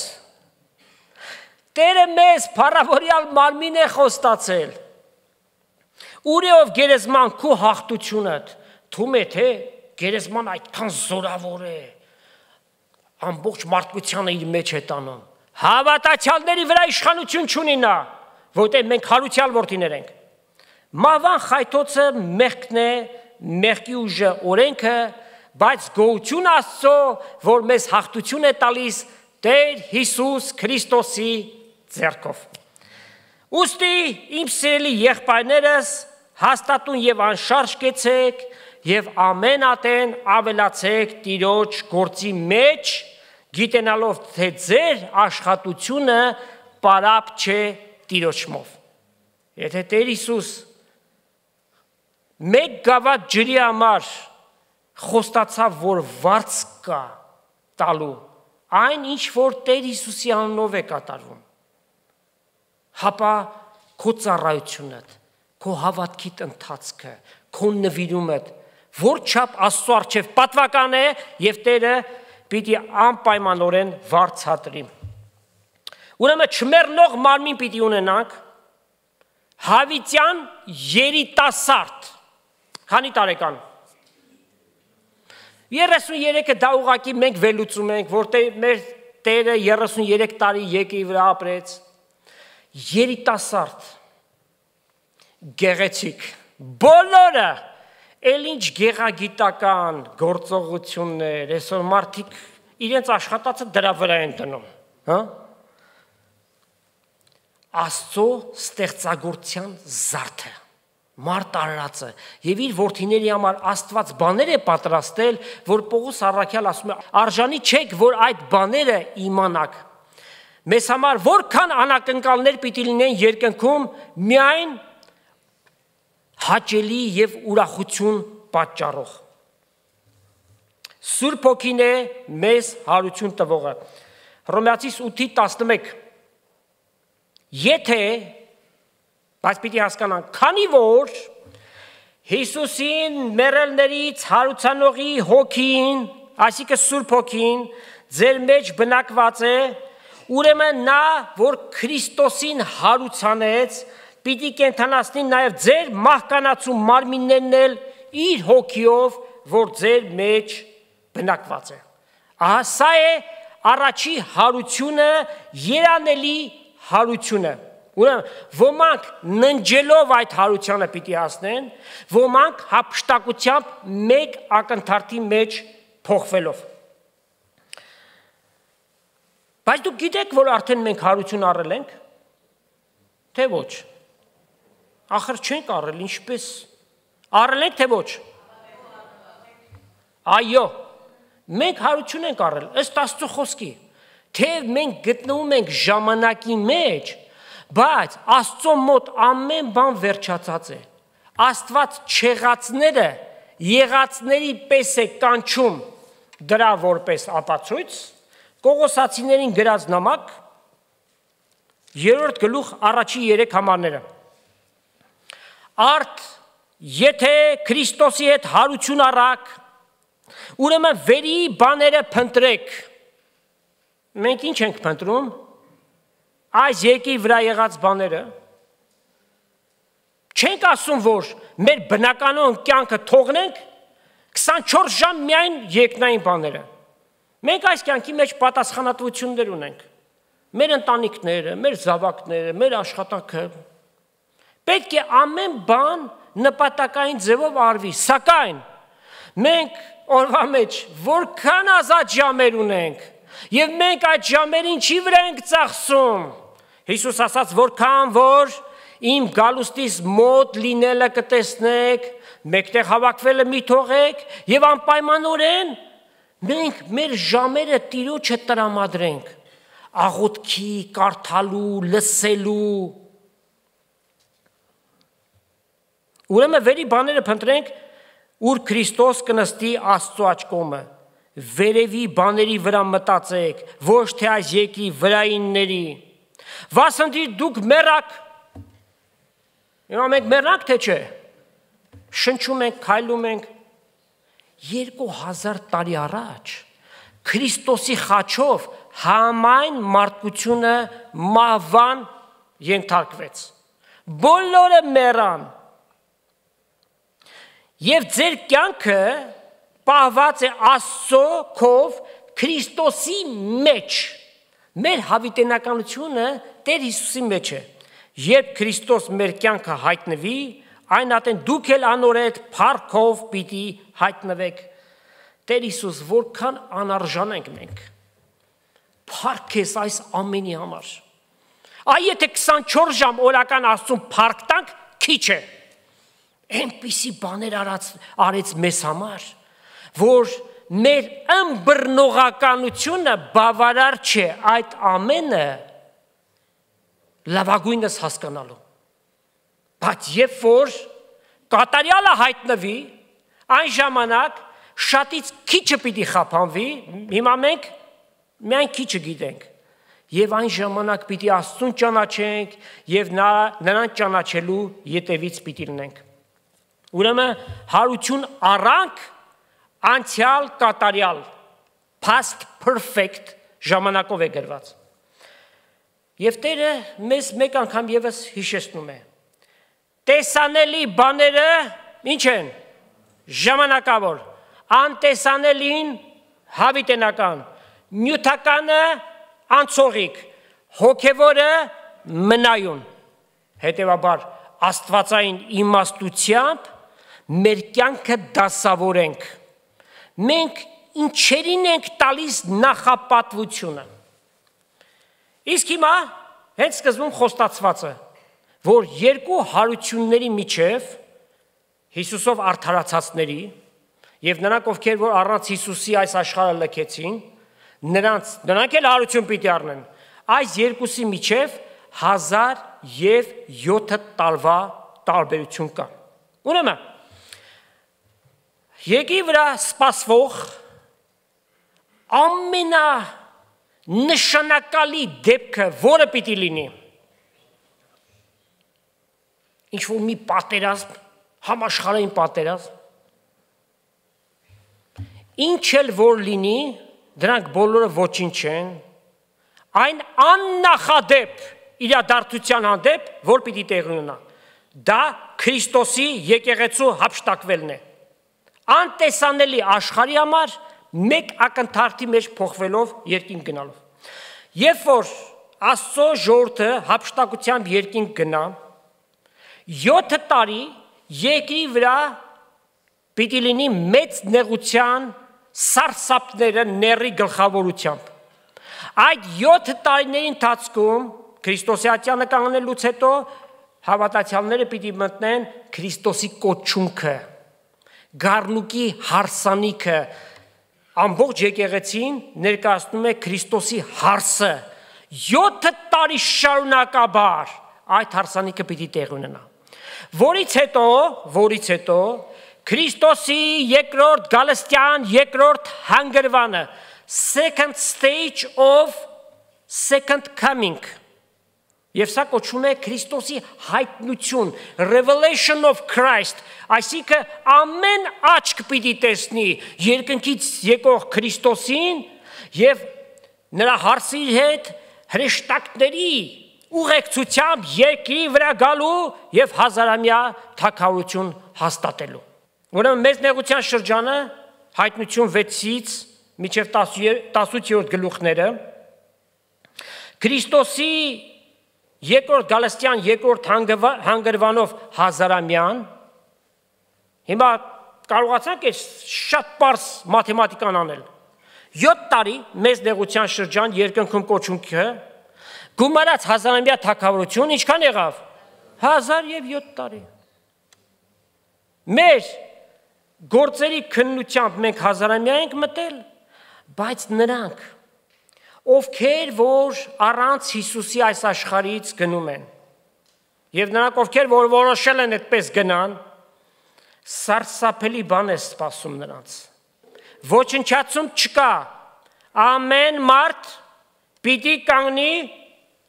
Տերը մեզ փառավորյալ մարմին է խոստացել։ Ուր է ով գերեզման քո հաղթությունդ, թվում է թե գերեզման այդքան զորավոր է, ամբողջ մարդկությանը իր մեջ է տանում։ Հավատացյալների վրա իշխանություն չունի նա, որտեղ մենք հարության որդիներ ենք։ Մահվան խայթոցը մեղքն է, մեղքի ուժը օրենքը, բայց գոհություն Աստծո, որ մեզ հաղթություն է տալիս Տեր Հիսուս Քրիստոսի ձեռքով։ Ուստի իմ սիրելի եղբայրներս, հաստատուն եւ անշարժ կեցեք եւ ամեն ատեն ավելացեք Տիրոջ գործի մեջ, գիտենալով թե ձեր աշխատությունը պարապ չէ Տիրոջմով։ Եթե Տեր Հիսուս մեկ գավաթ ջրի համար խոստացավ, որ վարձ կա տալու, այն ինչ որ Տեր Հիսուսի անունով է կատարվում, հապա քո ծառայությունդ, քո հավատքիդ ընթացքը, քո նվիրումդ, որ չափ Աստծո առջև պատվական է եւ Տերը պիտի անպայմանորեն վարձատրի։ Ուրեմն չմեռնող մարմին պիտի ունենանք, հավիտյան երիտասարդ, քանի տարեկան։ երեսուներեքը դա ուղղակի մենք վերլուծում ենք, որտեղ մեր Տերը երեսուներեք տարի եկի վրա ապրեց։ Երիտասարդ, գեղեցիկ, բոլորը էլ ինչ գեղագիտական գործողություններ, այսօր մարդիկ իրենց աշխատածը դրա վրա են դնում, հա? Աստծո ստեղծագործության զարդը, մարդ արարածը եւ իր որդիների համար Աստված բաներ է պատրաստել, որ Պողոս առաքյալ ասում է, արժանի չեք, որ այդ բաները իմանաք։ Մեզ համար որքան անակնկալներ պիտի լինեն երկնքում, միայն հաճելի եւ ուրախություն պատճառող։ Սուրբ Հոգին է մեզ հարություն տվողը։ Հռոմեացիս ութի տասնմեկ Եթե, բայց պիտի հասկանանք, քանի որ Հիսուսին մեռելներից հարուցանողի հոգին, այսինքն Սուրբ Հոգին, ձեր մեջ բնակված է, ուրեմն նա, որ Քրիստոսին հարուցանեց, պիտի կենդանացնի նաև ձեր մահկանացու մարմիններն էլ իր հոգիով, որ ձեր մեջ բնակված է։ Ահա սա է առաջի հարությունը, երանելի հարությունը, ուրեմն ոմանք ննջելով այդ հարությանը պիտի հասնեն, ոմանք հափշտակությամբ մեկ ակնթարթի մեջ փոխվելով։ Բայց դուք գիտեք, որ արդեն մենք հարություն առել ենք, թե ոչ, ախր չենք առել, ինչպես, առել ենք, թե ոչ, այո, մենք հարություն ենք առել, ըստ Աստծո խոսքի, թե մենք գտնվում ենք ժամանակի մեջ, բայց Աստծո մոտ ամեն բան վերջացած է, Աստված չեղածները եղածների պես է կանչում դրա որպես ապացույց, Կողոսացիներին գրած նամակ, երրորդ գլուխ առաջի երեք համարները, արդ եթե Քրիստոսի հետ հարություն առաք, ուրեմն վերի բաները փնտրեք, մենք ինչ ենք փնտրում, այս երկի վրա եղած բաները, չենք ասում, որ մեր բնականոն կյանքը թողնենք, քսանչորս ժամ միայն երկնային բաները, մենք այս կյանքի մեջ պատասխանատվություններ ունենք, մեր ընտանիքները, մեր զավակները, մեր աշխատանքը, պետք է ամեն բան նպատակային ձևով արվի, սակայն մենք օրվա մեջ որքան ազատ ժամեր ունենք, և մենք այդ ժամերին չի վրա ենք ծախսում, Հիսուս ասաց, որքան որ իմ գալուստիս մոտ լինելը կտեսնեք, մեկտեղ հավաքվելը մի թողեք և անպայմանորեն մենք մեր ժամերը Տիրոջը տրամադրենք, աղոթքի, կարդալու, լսելու, ուրեմն վերի բաները փնտրենք, ուր Քրիստոս կնստի Աստծո աջ կողմը, վերևի բաների վրա մտածեք, ոչ թե այս երկրի վրայինների, վասնտի դուք մեռաք, մենք մեռանք թե չէ, շնչում ենք, քայլում ենք, երկու հազար տարի առաջ Քրիստոսի խաչով համայն մարդկությունը մահվան ենթարկվեց, բոլորը մեռան, և ձեր կյանքը պահված է Աստծո քով Քրիստոսի մեջ, մեր հավիտենականությունը Տեր Հիսուսի մեջ է, երբ Քրիստոս մեր կյանքը հայտնվի, այն ատեն դուք էլ անորետ փառքով պիտի հայտնվեք, Տեր Հիսուս, որքան անարժան ենք մենք, փառք ես այս ամենի համար, այ եթե քսանչորս ժամ օրական Աստծուն փառք տանք, քիչ է, այնպիսի բաներ արեց մեզ համար, որ մեր ըմբռնողականությունը բավարար չէ այդ ամենը լավագույնս հասկանալու, բայց երբ որ կատարյալը հայտնվի, այն ժամանակ շատից քիչը պիտի խափանվի, հիմա մենք միայն քիչը գիտենք, և այն ժամանակ պիտի Աստծուն ճանաչենք և նրան ճանաչելու ետևից պիտի լինենք, ուրեմն հարություն առանք անցյալ կատարյալ, past perfect ժամանակով է գրված, և Տերը մեզ մեկ անգամ ևս հիշեցնում է, տեսանելի բաները ինչ են, ժամանակավոր, անտեսանելին հավիտենական, նյութականը անցողիկ, հոգևորը մնայուն, հետևաբար աստվածային իմաստությամբ մեր կյանքը դասավորենք, մենք ինչերին ենք տալիս նախապատվությունը։ Իսկ հիմա հենց սկզբում խոստացվածը, որ երկու հարությունների միջև Հիսուսով արդարացածների եւ նրանք ովքեր որ առանց Հիսուսի այս աշխարհը լքեցին, նրանց նրանք էլ հարություն պիտի առնեն։ Այս երկուսի միջև հազար և յոթ տարվա տարբերություն կա։ Ուրեմն Եկի վրա սպասվող ամենա նշանակալի դեպքը, որը պիտի լինի, ինչ-որ մի պատերազմ, համաշխարհային պատերազմ, ինչ էլ որ լինի, դրանք բոլորը ոչինչ չեն, այն աննախադեպ իրադարձության հանդեպ, որ պիտի տեղի ունենա, դա Քրիստոսի եկեղեցու հափշտակվելն է, անտեսանելի աշխարհի համար մեկ ակնթարթի մեջ փոխվելով երկինք գնալով։ Երբ որ Աստծո ժողովուրդը հափշտակությամբ երկինք գնա, յոթ տարի երկրի վրա պիտի լինի մեծ նեղության սարսափները ների գլխավորությամբ։ Այդ յոթ տարիների ընթացքում Քրիստոսի ատյանը կանգնելուց հետո հավատացյալները պիտի մտնեն Քրիստոսի կոչունքը, գառնուկի հարսանիքը, ամբողջ եկեղեցին ներկայացնում է Քրիստոսի հարսը, յոթ տարի շարունակաբար այդ հարսանիքը պիտի տեղի ունենա։ Որից հետո, որից հետո Քրիստոսի երկրորդ գալստյան երկրորդ հանգրվանը, second stage of second coming, եւ սա կոչվում է Քրիստոսի հայտնություն, revelation of Christ, այսինքն ամեն աչք պիտի տեսնի երկնքից եկող Քրիստոսին եւ նրա հարսի հետ հրեշտակների ուղեկցությամբ երկրի վրա գալու եւ հազարամյա թագավորություն հաստատելու։ Ուրեմն մեծ նեղության շրջանը հայտնություն վեցից մինչև տասնութ գլուխները Քրիստոսի երկրորդ գալստյան երկրորդ հանգրվանով հազարամյան, հիմա կարողացանք այս շատ պարզ մաթեմատիկան անել, յոթ տարի մեծ նեղության շրջան երկնքում կոչունքը, գումարած հազարամյա թագավորություն ինչքան եղավ, հազար և յոթ տարի, մեր գործերի քննությամբ մենք հազարամյա ենք մտել, բայց նրանք ովքեր որ առանց Հիսուսի այս աշխարհից գնում են, եւ նրանք ովքեր որ որոշել են այդպես գնան, սարսափելի բան է սպասում նրանց։ Ոչնչացում չկա, ամեն մարդ պիտի կանգնի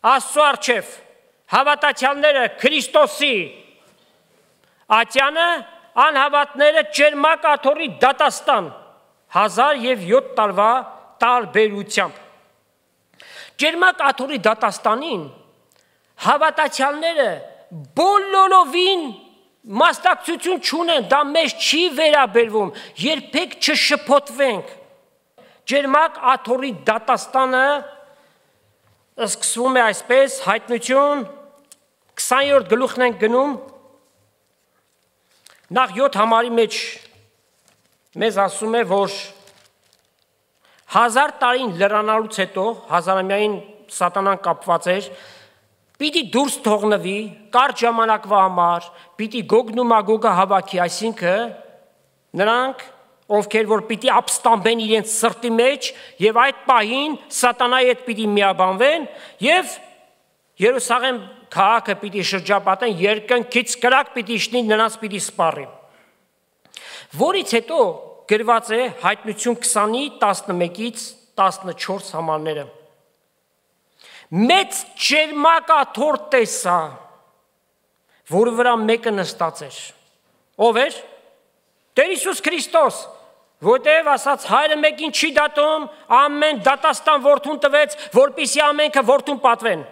Աստծո առջև, հավատացյալները Քրիստոսի ատյանը, անհավատները ճերմակ աթոռի դատաստան, հազար և յոթ տարվա տարբերությամբ։ Ճերմակ աթոռի դատաստանին հավատացյալները բոլորովին մասնակցություն չունեն, դա մեզ չի վերաբերվում, երբեք չշփոթվենք։ Ճերմակ աթոռի դատաստանը սկսվում է այսպես, հայտնություն քսաներորդ գլուխն ենք գնում, նախ յոթ համարի մեջ մեզ ասում է, որ հազար տարին լրանալուց հետո, հազարամյային սատանան կապված էր, պիտի դուրս թողնվի, կարճ ժամանակվա համար, պիտի Գոգն ու Մագոգը հավաքի, այսինքն նրանք, ովքեր որ պիտի ապստամբեն իրենց սրտի մեջ եւ այդ պահին սատանայի հետ պիտի միաբանվեն եւ Երուսաղեմ քաղաքը պիտի շրջապատեն, երկնքից կրակ պիտի իջնի, նրանց պիտի սպառի։ Որից հետո գրված է հայտնություն քսանի տասնմեկից տասնչորս համարները։ Մեծ ճերմակ աթոռ տեսա, որի վրա մեկը նստած էր։ Ով էր? Տեր Հիսուս Քրիստոս, որտեղ ասաց հայրը մեկին չի դատում, ամեն դատաստան որդուն տվեց, որպեսզի ամենքը որդուն պատվեն։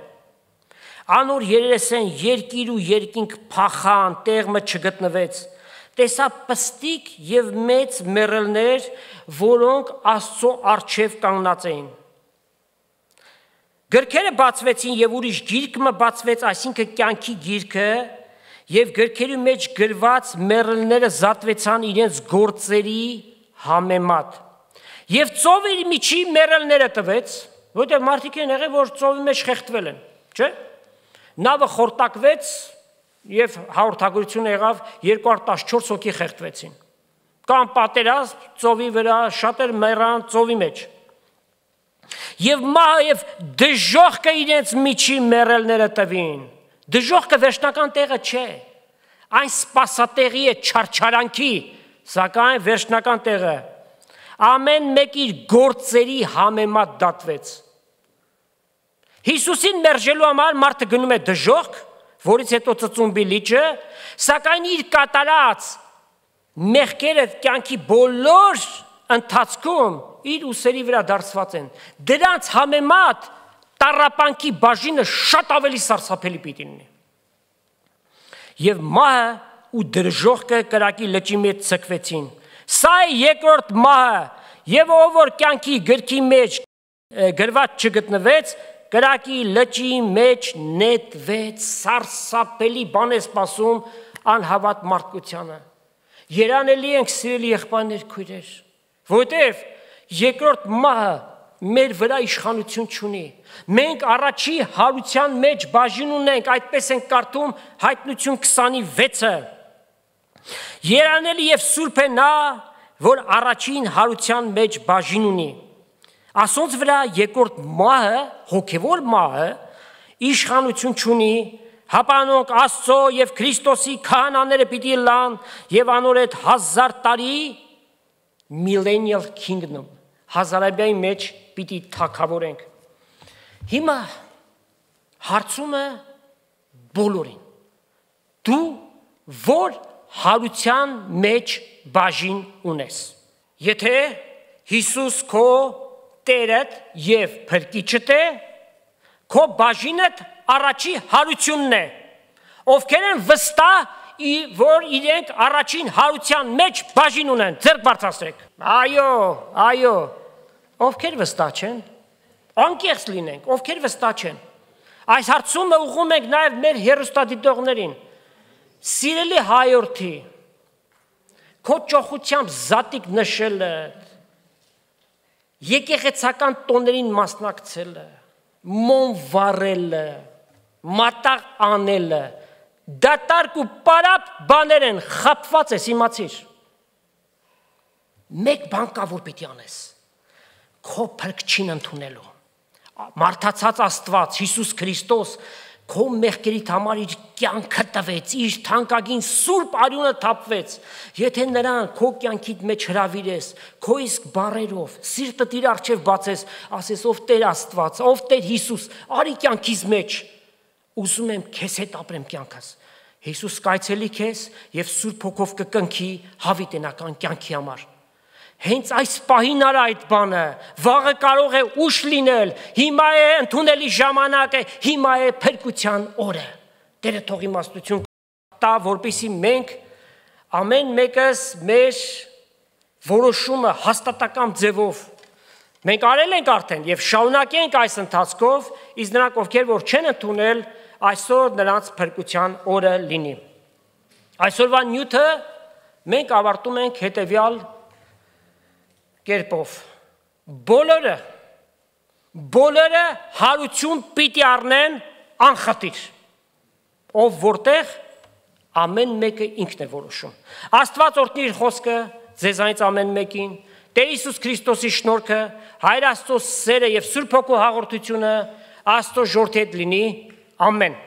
Անոր երեսեն երկիր ու երկինք փախան, տեղը չգտնվեց։ Տեսա պստիկ եւ մեծ մեռելներ, որոնք Աստծո առջև կանգնած էին։ Գրքերը բացվեցին եւ ուրիշ գիրք մը բացվեց, այսինքն կյանքի գիրքը, եւ գրքերի մեջ գրված մեռելները զատվեցան իրենց գործերի համեմատ։ Եվ ծովի միջի մեռելները տվեց, որտեղ մարդիկ են եղել, որ ծովի մեջ խեղդվել են, չէ՞։ Նավը խորտակվեց եւ հաղորդագրություն եղավ երկու հարյուր տասնչորս հոգի խեղդվեցին։ Կամ պատերազմ ծովի վրա, շատեր մեռան ծովի մեջ։ Եվ մահը եւ դժոխքը իրենց միջի մեռելները տվին։ Դժոխքը վերջնական տեղը չէ։ Այն սպասատեղի է չարչարանքի, սակայն վերջնական տեղը ամեն մեկ իր գործերի համեմատ դատվեց։ Հիսուսին մերժելու համար մարդը գնում է դժոխք, որից հետո ծծումբի լիճը, սակայն իր կատարած մեղքերը կյանքի բոլոր ընթացքում իր ուսերի վրա դարձված են։ Դրանց համեմատ տառապանքի բաժինը շատ ավելի սարսափելի պիտի լինի։ Եվ մահը ու դժոխքը կրակի լճի մեջ ցկվեցին։ Սա է երկրորդ մահը, եւ ով որ կյանքի գրքի մեջ գրված չգտնվեց, կրակի լճի մեջ նետվեց, սարսափելի բան է սպասում անհավատ մարդկությանը։ Երանելի ենք սիրելի եղբայրներ, քույրեր, որտեւ երկրորդ մահը մեր վրա իշխանություն չունի։ Մենք առաջի հարության մեջ բաժին ունենք, այդպես ենք կարդում Հայտնություն քսանվեցը։ Երանելի եւ սուրբ է նա, որ առաջին հարության մեջ բաժին ունի։ Ասոնց վրա երկրորդ մահը, հոգևոր մահը, իշխանություն չունի, հապանոնք Աստծո եւ Քրիստոսի քահանաները պիտի լան եւ անոր այդ հազար տարի millennial kingdom հազարամյայի մեջ պիտի թագավորենք։ Հիմա հարցումը բոլորին։ Դու որ հարության մեջ բաժին ունես։ Եթե Հիսուս քո Տերդ եւ Փրկիչդ է, քո բաժինդ առաջի հարությունն է։ Ովքեր են վստահ, որ իրենք առաջին հարության մեջ բաժին ունեն, ձեռք բարձրացրեք։ Այո, այո։ Ովքեր վստահ չեն, անկեղծ լինենք, ովքեր վստահ չեն։ Այս հարցումը ուղղում ենք նաև մեր հեռուստադիտողներին։ Սիրելի հայորդի, քո ճոխությամբ զատիկ նշելը, եկեղեցական տոներին մասնակցելը, մոմ վառելը, մատաղ անելը, դատարկ ու պարապ բաներ են, խապված ես, իմացիր։ Մեկ բան կա, որ պիտի անես, քո փրկչին ընդունելու, մարդացած Աստված, Հիսուս Քրիստոս, քո մեղքերիդ համար իր կյանքը տվեց, իր թանկագին սուրբ արյունը թափվեց, եթե նրան քո կյանքիդ մեջ հրավիրես, քո իսկ բառերով, սիրտդ իր առջև բացես, ասես ով Տեր Աստված, ով Տեր Հիսուս, արի կյանքիս մեջ, ուզում եմ քեզ հետ ապրեմ կյանքս, Հիսուս կայցելի քեզ և Սուրբ Հոգով կկնքի հավիտենական կյանքի համար։ Հենց այս պահին արա այդ բանը, վաղը կարող է ուշ լինել, հիմա է ընդունելի ժամանակը, հիմա է փրկության օրը։ Տերը թող իմաստություն տա, որպեսզի մենք ամեն մեկս մեր որոշումը հաստատակամ ձևով մենք արել ենք արդեն եւ շարունակենք այս ընթացքով, իսկ նրանք ովքեր որ չեն ընդունել, այսօր նրանց փրկության օրը լինի։ Այսօրվա նյութը մենք ավարտում ենք հետեւյալ կերպով, բոլորը, բոլորը հարություն պիտի առնեն անխտիր, ով որտեղ ամեն մեկը ինքն է որոշում։ Աստված օրհնի իր խոսքը ձեզանից ամեն մեկին, Տեր Հիսուս Քրիստոսի շնորհքը, Հայր Աստծո սերը եւ Սուրբ Հոգու հաղորդությունը Աստծո ժողովրդի հետ լինի, ամեն։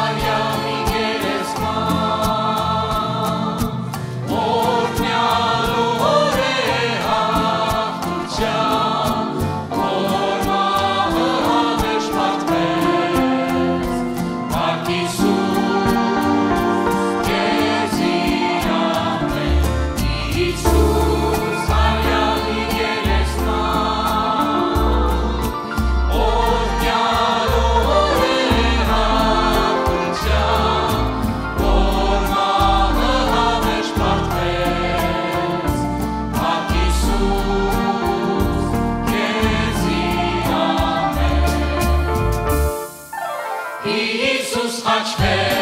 Anya Աչքեր